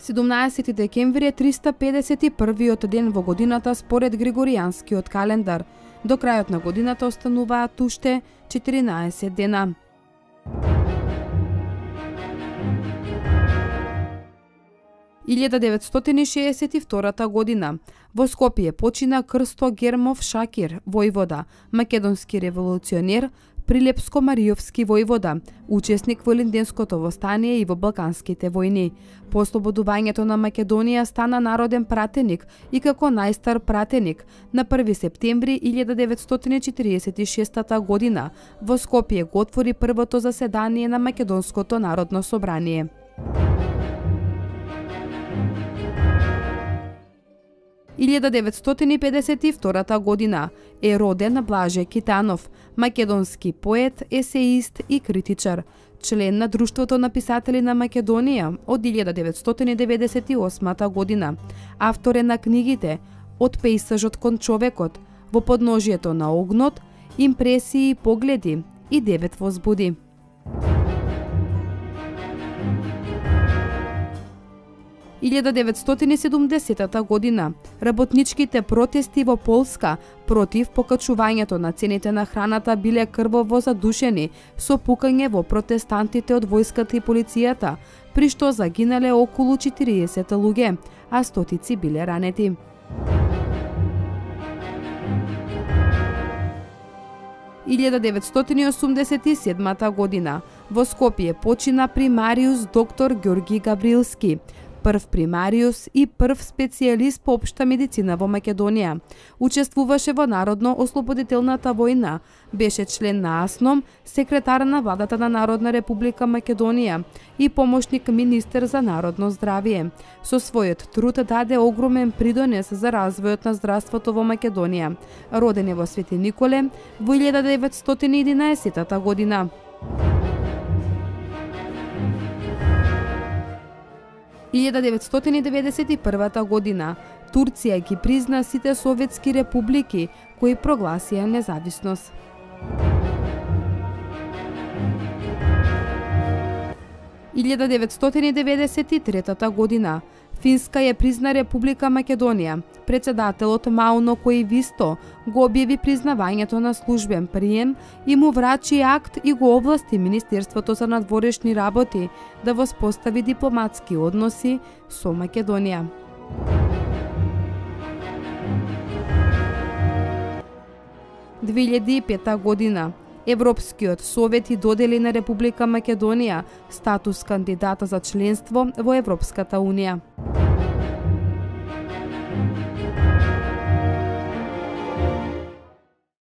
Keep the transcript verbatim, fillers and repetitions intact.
седумнаесети декември е триста педесет и првиот ден во годината според Григоријанскиот календар. До крајот на годината остануваат уште четиринаесет дена. илјада деветстотини шеесет и втора година. Во Скопје почина Крсто Гермов Шакир, војвода, македонски револуционер, Прилепско-Мариовски војвода, учесник во Илинденското востание и во Балканските војни. По ослободувањето на Македонија стана народен пратеник и како најстар пратеник на први септември илјада деветстотини четириесет и шеста година во Скопје го отвори првото заседание на Македонското народно собрание. илјада деветстотини педесет и втора година е роден Блаже Китанов, македонски поет, есеист и критичар, член на Друштвото на писатели на Македонија од илјада деветстотини деветдесет и осма година. Автор е на книгите Од пејсажот кон човекот, Во подножието на огнот, Импресии и погледи и Девет возбуди. илјада деветстотини седумдесета година работничките протести во Полска против покачувањето на цените на храната биле крваво задушени со пукање во протестантите од војската и полицијата, при што загинале околу четириесет луѓе, а стотици биле ранети. илјада деветстотини осумдесет и седма година во Скопје почина примариус доктор Ѓорги Габрилски, прв примариус и прв специјалист по општа медицина во Македонија. Учествуваше во Народно-ослободителната војна, беше член на АСНОМ, секретар на владата на Народна република Македонија и помошник министер за народно здравје. Со својот труд даде огромен придонес за развојот на здравството во Македонија. Роден е во Свети Николе во илјада деветстотини и единаесета година. илјада деветстотини деветдесет и прва година Турција ги призна сите советски републики кои прогласија независност. илјада деветстотини деветдесет и трета година Финска ја призна Република Македонија. Председателот Мауно Коивисто го објави признавањето на службен прием и му врачи акт и го овласти Министерството за надворешни работи да воспостави дипломатски односи со Македонија. две илјади и пета година Европскиот совет и додели на Република Македонија статус кандидата за членство во Европската унија.